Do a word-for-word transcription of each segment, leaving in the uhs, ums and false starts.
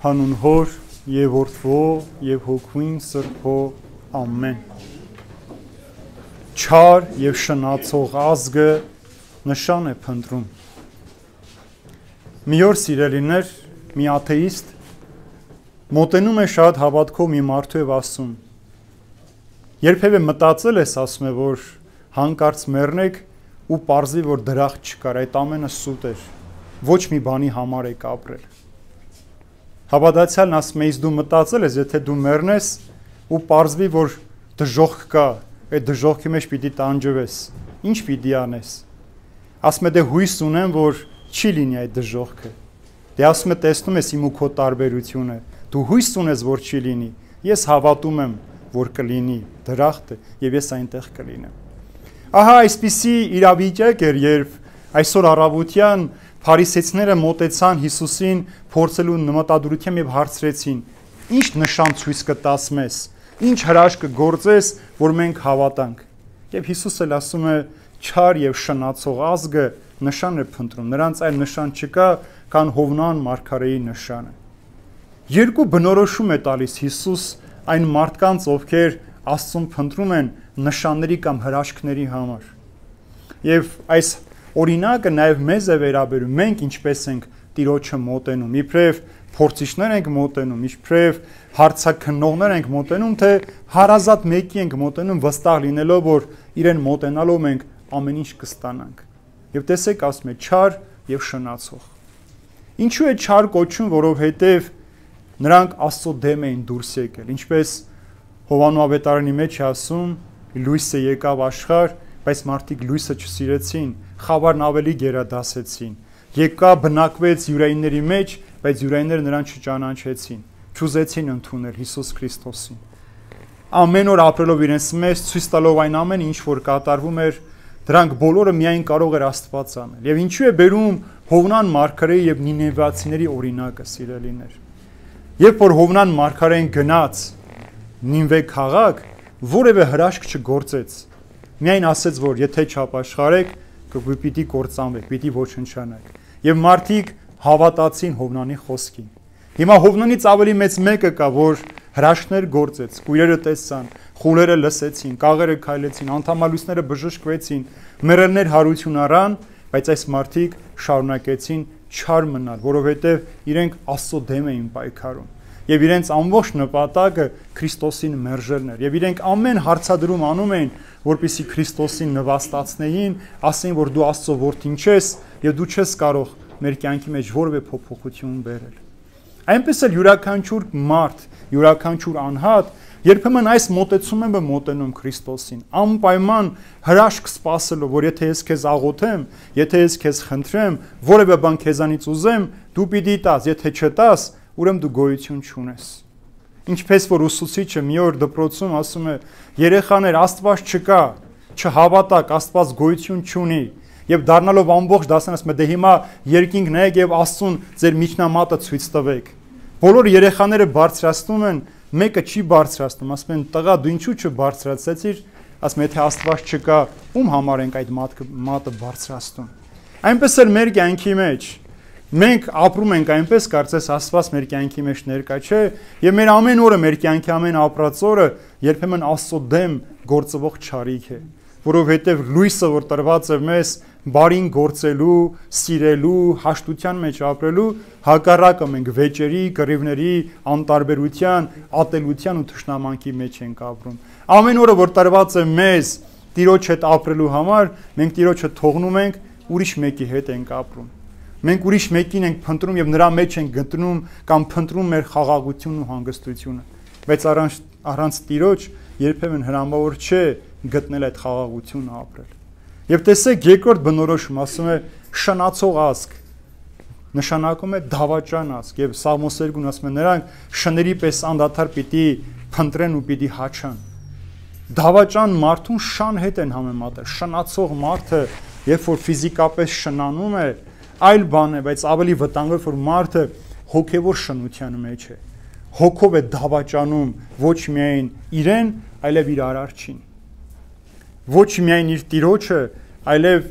Հանուն Հոր եւ Որդվո եւ Հոգուին Սրբո ամեն։ Չար եւ շնացող ազգը նշան է փնտրում։ Մի օր սիրելիներ, մի աթեիստ մոտենում է շատ հավատքով մի մարդու եւ ասում. երբևէ մտածել ես, ասում է, որ հանկարծ մեռնեք ու պարզվի, որ դրախտ չկար, այդ ամենը սուտ էր, ոչ մի բանի համար եք ապրել։ Հավատացյալն ասում է, իսկ դու մտածել ես, եթե դու մեռնես ու պարզվի, որ դժոխք կա, այդ դժոխքի մեջ պիտի տանջվես, ինչ պիտի անես։ Ասում է, դե հույս ունեմ, որ չի լինի այդ դժոխքը։ Դե ասում է, տեսնում ես իմ ու քո տարբերությունը, դու հույս ունես, որ չի լինի, ես հավատում եմ, որ կլինի դրախտը եւ ես այնտեղ կլինեմ։ Ահա այսպիսի իրավիճակ էր, երբ այսօր առավոտյան փարիսեցիները մոտեցան Հիսուսին փորձելու նմտադրությամբ եւ հարցրեցին. ինչ նշան ցույց կտաս մեզ, ինչ հրաշք կգործես, որ մենք հավատանք։ Եվ Հիսուսը ասում է, չար եւ շնացող ազգը նշան է փնտրում, նրանց այլ նշան չկա, քան Հովնան մարգարեի նշանը։ Երկու բնորոշում է տալիս Հիսուս այն մարդկանց, ովքեր Աստծուն փնտրում են նշանների կամ հրաշքների համար։ Եւ այս օրինակը նաեւ մեզ է վերաբերում, մենք ինչպես ենք Տիրոջը մոտենում, իբրև փորձիչներ ենք մոտենում, իբրև հարցաքննողներ ենք մոտենում, թե հարազատ մեկի ենք մոտենում, վստահ լինելով, որ իրեն մոտենալով մենք ամեն ինչ կստանանք։ Եվ տեսեք, ասում է, չար եւ շնացող։ Ինչու է չար կոչում, որովհետեւ նրանք Աստծո դեմ էին դուրս եկել, ինչպես Հովանու ավետարանի մեջ է ասում, լույսը եկավ աշխարհ, բայց մարդիկ լույսը չսիրեցին, խավարն ավելի գերադասեցին։ Եկա բնակվեց յուրայինների մեջ, բայց յուրայինները նրան չճանաչեցին, չուզեցին ընդունել Հիսուս Քրիստոսին։ Ամեն օր ապրելով իրենց մեջ, ցույց տալով այն ամենը, ինչ որ կատարվում էր, դրանք բոլորը միայն կարող էր Աստված անել։ Եվ ինչու է բերում Հովնան մարգարեի եւ Նինևացիների օրինակը, սիրելիներ։ Երբ որ Հովնան մարգարեն գնաց Նինվե քաղաք, որևէ հրաշք չգործեց։ Միայն ասեց, որ եթե չապաշխարեք, կպիտի կործանվեք, պիտի ոչնչանաք։ Եվ մարդիկ հավատացին Հովնանի խոսքին։ Հիմա Հովնանից ավելի մեծ մեկը կա, որ հրաշքներ գործեց, կույրերը տեսան, խուլերը լսեցին, կաղերը քայլեցին, անդամալույսները բժշկվեցին, մեռելներ հարություն առան, բայց այս մարդիկ շարունակեցին չար մնալ, որովհետև իրենք Աստծո դեմ էին պայքարում։ Եվ իրենց ամբողջ նպատակը Քրիստոսին մերժելն էր։ Եվ իրենք ամեն հարցադրում անում էին, որպեսզի Քրիստոսին նվաստացնեին, ասեին, որ դու Աստծո որդին ես եւ դու չես կարող մեր կյանքի մեջ որևէ փոփոխություն բերել։ Այնպես էլ յուրաքանչյուր մարդ, յուրաքանչյուր անհատ երբեմն այս մոտեցումն է մոտենում Քրիստոսին, անպայման հրաշք սպասելով, որ եթե ես քեզ աղոթեմ, եթե ես քեզ խնդրեմ, որևէ բան քեզանից ուզեմ, դու պիտի տաս, եթե չտաս, ուրեմն դու գոյություն չունես։ Ինչպես որ ուսուցիչը մի օր դպրոցում ասում է, երեխաներ, Աստված չկա, չհավատակ, Աստված գոյություն չունի, եւ դառնալով ամբողջ դասն ասում է, դե հիմա երկինք նայեք եւ Աստծուն ձեր միջնամատը ցույց տվեք։ Բոլոր երեխաները բարձրացնում են, մեկը չի բարձրացնում, ասում են, տղա, դու ինչու չբարձրացեցիր, ասում են, եթե Աստված չկա, ում համար ենք այդ մատը բարձրացնում։ Այնպես էլ մեր կյանքի մեջ մենք ապրում ենք այնպես, կարծես Աստված մեր կյանքի մեջ ներկա չէ, եւ մեր ամեն օրը, մեր կյանքի ամեն ապրած օրը երբեմն Աստծո դեմ գործվող չարիք է, որովհետեւ լույսը, որ տրված է մեզ բարին գործելու, սիրելու, հաշտության մեջ ապրելու, հակառակը մենք վեճերի, կռիվների, անտարբերության, ատելության ու թշնամանքի մեջ ենք ապրում։ Ամեն օրը, որ տրված է մեզ Տիրոջ հետ ապրելու համար, մենք Տիրոջը թողնում ենք, ուրիշ մեկի հետ ենք ապրում։ Մենք ուրիշ մեկին ենք փնտրում եւ նրա մեջ ենք գտնում կամ փնտրում մեր խաղաղությունն ու հանգստությունը, բայց առանց առանց Տիրոջ երբեմն հնարավոր չէ գտնել այդ խաղաղությունը ապրել։ Եվ տեսեք, երկրորդ բնորոշում ասում է շնացող ազգ, նշանակում է դավաճան ազգ, եւ Սաղմոս երկուն ասում է նրանք շների պես անդադար պիտի փնտրեն ու պիտի հաչան։ Դավաճան մարդուն շան հետ են համեմատել, շնացող մարդը, երբ որ ֆիզիկապես շնանում է, այլ բան է, բայց ավելի վտանգավոր որ մարդը հոգևոր շնության մեջ է։ Հոգով է դավաճանում ոչ միայն իրեն, այլև իր արարչին։ Ոչ միայն իր Տիրոջը, այլև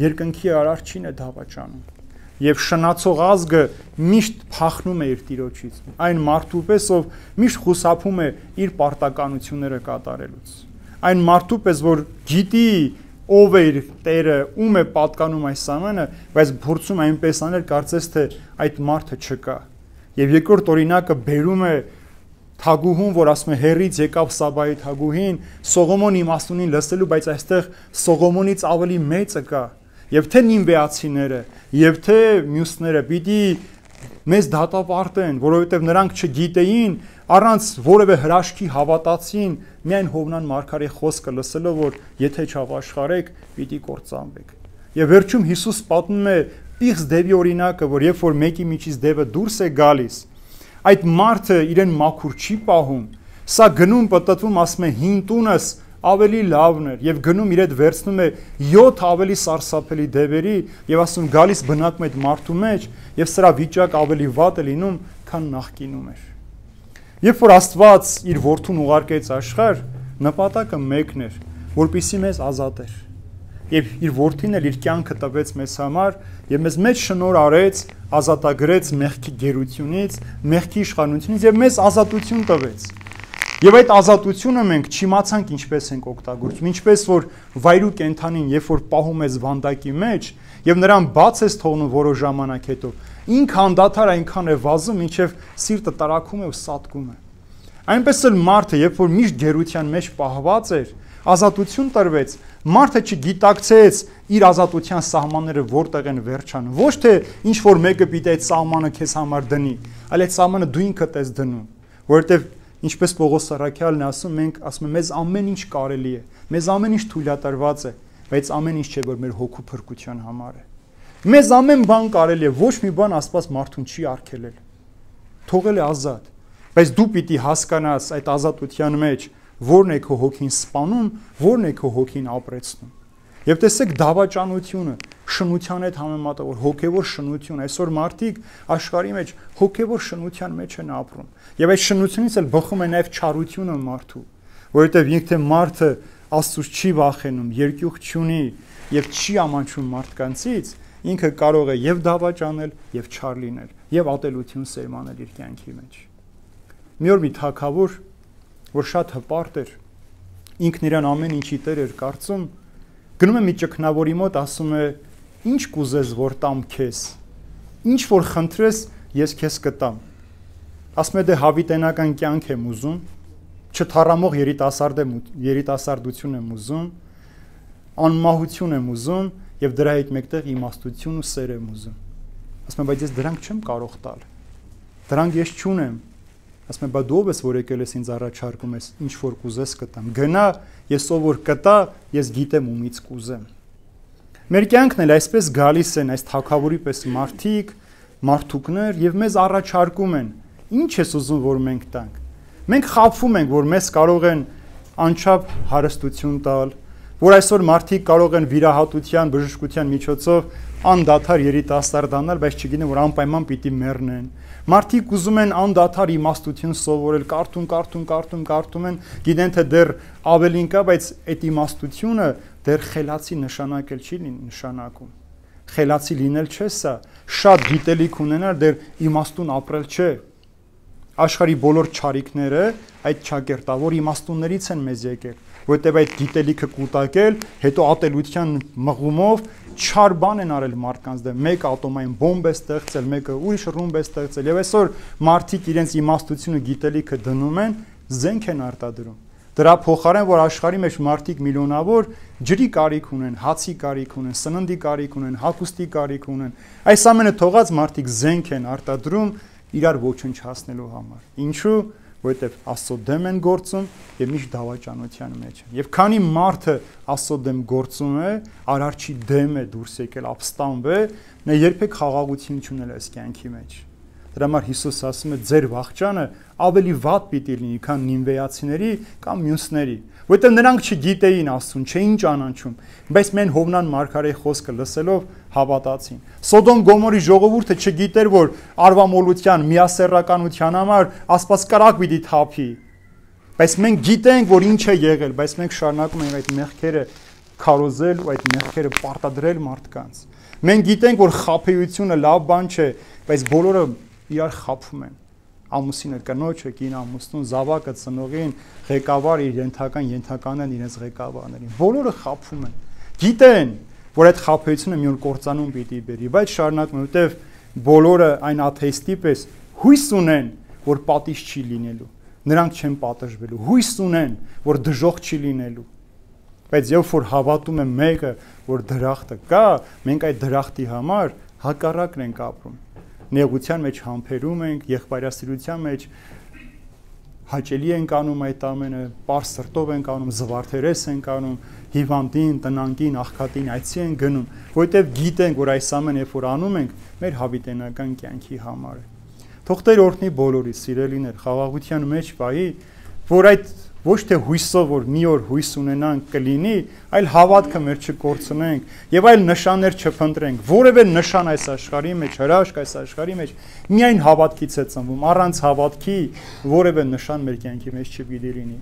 երկնքի արարչին է դավաճանում։ եւ շնացող ազգը միշտ փախնում է իր տիրոջից, այն մարդու պես, ով միշտ խուսափում է իր պարտականությունները կատարելուց, այն մարդու պես, որ գիտի ով է իր Տերը, ում է պատկանում այս ամենը, բայց փորձում այնպես անել, կարծես թե այդ մարդը չկա։ Եվ երկրորդ օրինակը բերում է թագուհուն, որ ասում է հերից եկավ Սաբայի թագուհին, Սողոմոն իմաստունին լսելու, բայց այստեղ Սողոմոնից ավելի մեծը կա, եւ թե նինվեացիները, եւ թե մյուսները պիտի մեզ դատապարտեն, որովհետեւ նրանք չգիտեին, առանց որևէ հրաշքի հավատացին միայն Հովնան մարգարեի խոսքը լսելով, որ եթե չապաշխարեք, պիտի կործանվեք։ Եվ վերջում Հիսուս պատմում է Պիղծ դևի օրինակը, որ երբ որ մեկի միջից դևը դուրս է գալիս, այդ մարդը իրեն մաքուր չի պահում, սա գնում պտտվում, ասում է հին տունս ավելի լավն էր, եւ գնում իր հետ վերցնում է յոթ ավելի սարսափելի դևերի եւ ասում գալիս բնակում այդ մարդու մեջ եւ սրա վիճակ ավելի վատ է լինում, քան նախկինում էր։ Երբ որ Աստված իր որդուն ուղարկեց աշխարհ, նպատակը մեկն էր, որպեսզի մեզ ազատեր։ Եվ իր որդին էլ իր կյանքը տվեց մեզ համար եւ մեզ մեջ շնորհ արեց, ազատագրեց մեղքի գերությունից, մեղքի իշխանությունից եւ մեզ ազատություն տվեց։ Եվ այդ ազատությունը մենք չիմացանք ինչպես ենք օգտագործում, ինչպես որ վայրու կենդանին, երբ որ պահում ես վանդակի մեջ եւ նրան բաց ես թողնում որոշ ժամանակ հետո, ինքը անդադար այնքան է վազում, մինչև սիրտը տարակում է ու սատկում է։ Այնպես էլ մարդը, երբ որ միշտ գերության մեջ պահված էր, ազատություն տրվեց, մարդը չգիտակցեց իր ազատության սահմանները որտեղ են վերջանում։ Ոչ թե ինչ որ մեկը պիտի այդ սահմանը քեզ համար դնի, այլ այդ սահմանը դու ինքդ ես դնում, որովհետեւ ինչպես Պողոս Սարաքյալն է ասում, մենք ասում ենք մեզ ամեն ինչ կարելի է, մեզ ամեն ինչ թույլատրված է, բայց ամեն ինչ չէ որ մեր հոգու փրկության համար է։ Մեզ ամեն բան կարելի է, ոչ մի բան Աստված մարդուն չի արգելել։ Թողել է ազատ, բայց դու պիտի հասկանաս այդ ազատության մեջ որն է քո հոգին սպանում, որն է քո հոգին ապրեցնում։ Եվ տեսեք դավաճանությունը, շնության հետ համեմատը, որ հոգևոր շնություն, այսօր մարդիկ աշխարհի մեջ հոգևոր շնության մեջ են ապրում։ Եվ այդ շնությունից էլ բխում է նաև չարությունը մարդու, որովհետև ինքը թե մարդը Աստծուց չի վախենում, երկյուղ չունի եւ չի ամանչում մարդկանցից, ինքը կարող է եւ դավաճանել, եւ չար լինել, եւ ատելություն սերմանել իր կյանքի մեջ։ Մի օր մի թագավոր, որ շատ հպարտ էր, ինքն իրան ամեն ինչի տեր էր կարծում, գնում է մի ճգնավորի մոտ, ասում է. «Ինչ կուզես, որ տամ քեզ, ինչ որ խնդրես, ես քեզ կտամ»։ Ասում է դե հավիտենական կյանք եմ ուզում, չթառամող երիտասարդ եմ, երիտասարդություն եմ ուզում, անմահություն եմ ուզում եւ դրա հետ մեկտեղ իմաստություն ու սեր եմ ուզում։ Ասում է բայց ես դրանք չեմ կարող տալ։ Դրանք ես չունեմ։ Ասում է բա դու ով ես որ եկել ես ինձ առաջարկում ես ինչ որ կուզես կտամ։ Գնա, ես ով որ կտա, ես գիտեմ ումից կուզեմ։ Մեր կյանքն էլ այսպես գալիս են այս թագավորի պես մարդիկ, մարդուկներ եւ մեզ առաջարկում են. Ինչ ես ուզում որ մենք տանք։ Մենք խաբվում ենք, որ մեզ կարող են անչափ հարստություն տալ, որ այսօր մարդիկ կարող են վիրահատության, բժշկության միջոցով անդադար երիտասարդանալ, բայց չգիտեն որ անպայման պիտի մեռնեն։ Մարդիկ ուզում են անդադար իմաստություն սովորել, կարդում, կարդում, կարդում, կարդում են, գիտեն թե դեռ ավելին կա, բայց այդ իմաստությունը դեռ խելացի նշանակել չի նշանակում։ Խելացի լինել չէ սա, շատ գիտելիք ունենալ դեռ իմաստուն ապրել չէ։ Աշխարհի բոլոր չարիքները այդ ճակերտավոր իմաստուններից են մեզ եկել, որտեղ այդ գիտելիքը կուտակել, հետո ատելության մղումով չար բան են արել մարդկանց դեմ, մեկը ատոմային բոմբ է ստեղծել, մեկը ուրիշ ռումբ է ստեղծել, եւ այսօր մարդիկ իրենց իմաստությունը գիտելիքը դնում են, զենք են արտադրում։ Դրա փոխարեն որ աշխարհի մեջ մարդիկ միլիոնավոր ջրի կարիք ունեն, հացի կարիք ունեն, սննդի կարիք ունեն, հագուստի կարիք ունեն, այս ամենը թողած մարդիկ զենք են արտադրում իրար ոչնչացնելու համար։ Ինչու՞, որովհետև Աստծո դեմ են գործում եւ միշտ դավաճանության մեջ են։ Եվ քանի մարդը Աստծո դեմ գործում է, արարչի դեմ է դուրս եկել, ապստամբ է, նա երբեք խաղաղություն չունել այս կյանքի մեջ։ Դրա համար Հիսուս ասում է ձեր վախճանը ավելի վատ պիտի լինի, քան նինվեացիների կամ մյուսների, որովհետև նրանք չգիտեին Աստծուն, չէին ճանաչում, բայց մեն Հովնան մարգարեի խոսքը լսելով հավատացին։ Սոդոմ Գոմորի ժողովուրդը չգիտեր, որ արվամոլության, միասեռականության համար Աստված կրակ պիտի թափի։ Բայց մենք գիտենք, որ ինչ է եղել, բայց մենք շարունակում ենք այդ մեղքերը քարոզել ու այդ մեղքերը պարտադրել մարդկանց։ Մենք գիտենք, որ խաբեությունը լավ բան չէ, բայց բոլորը իրար խաբում են։ Ամուսինը կնոջը, կին ամուսնուն, զավակը ծնողին, ղեկավարը իր ենթական ենթականն իրենց ղեկավարներին։ Բոլորը խաբում են։ Գիտեն, որ այդ խաբեությունը մի օր կործանում պիտի բերի, բայց շարունակում, որովհետև բոլորը այն աթեիստի պես հույս ունեն, որ պատիժ չի լինելու։ Նրանք չեն պատժվելու։ Հույս ունեն, որ դժոխք չի լինելու։ Բայց երբ որ հավատում են մեկը, որ դրախտը կա, մենք այդ դրախտի համար հակառակն ենք ապրում։ Նեղության մեջ համբերում ենք, եղբայրասիրության մեջ հաճելի ենք անում այդ ամենը, պարզ սրտով ենք անում, զվարթերես ենք անում, հիվանդին, տնանկին, աղքատին այցի ենք գնում, որովհետև գիտենք, որ այս ամենը երբ որ անում ենք, մեր հավիտենական կյանքի համար է։ Թող Տեր օրհնի բոլորի սիրելիներ, խաղաղության մեջ վայի, որ այդ ոչ թե հույսով, որ մի օր հույս ունենանք կլինի, այլ հավատքը մեր չկորցնենք եւ այլ նշաններ չփնտրենք, որևէ նշան այս աշխարհի մեջ, հրաշք այս աշխարհի մեջ միայն հավատքից է ծնվում, առանց հավատքի որևէ նշան մեր կյանքի մեջ չպիտի լինի։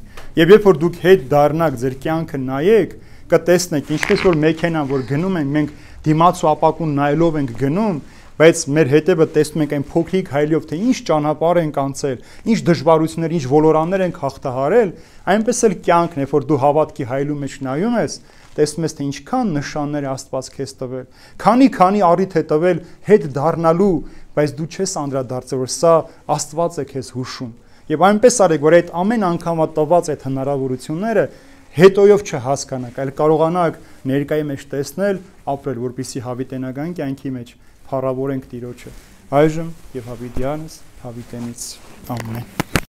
Եվ երբ որ դուք հետ դառնաք ձեր կյանքը նայեք, կտեսնեք, ինչպես որ մեքենան, որ գնում ենք, մենք դիմաց ու ապակուն նայելով ենք գնում, բայց մեր հետևը տեսնում ենք այն փոքրիկ հայլով, թե ինչ ճանապարհ ենք անցել, ինչ դժվարություններ, ինչ ոլորաններ ենք հաղթահարել, այնպես էլ կյանքն է, որ դու հավատքի հայլու մեջ նայում ես, տեսնում ես, թե ինչքան նշաններ Աստված քեզ տվել, քանի-քանի առիթ է տվել հետ դառնալու, բայց դու չես անդրադարձել, որ սա Աստված է քեզ հուշում։ Եվ այնպես արեք, որ այդ ամեն անգամվա տված այդ հնարավորությունները հետոյով չհասկանաք, այլ կարողանաք ներկայի մեջ տեսնել, ապրել, որպեսզի հավիտենական կյանքի մեջ փառավորենք Տիրոջը։ Այժմ եւ հավիտյանս հավիտենից ամեն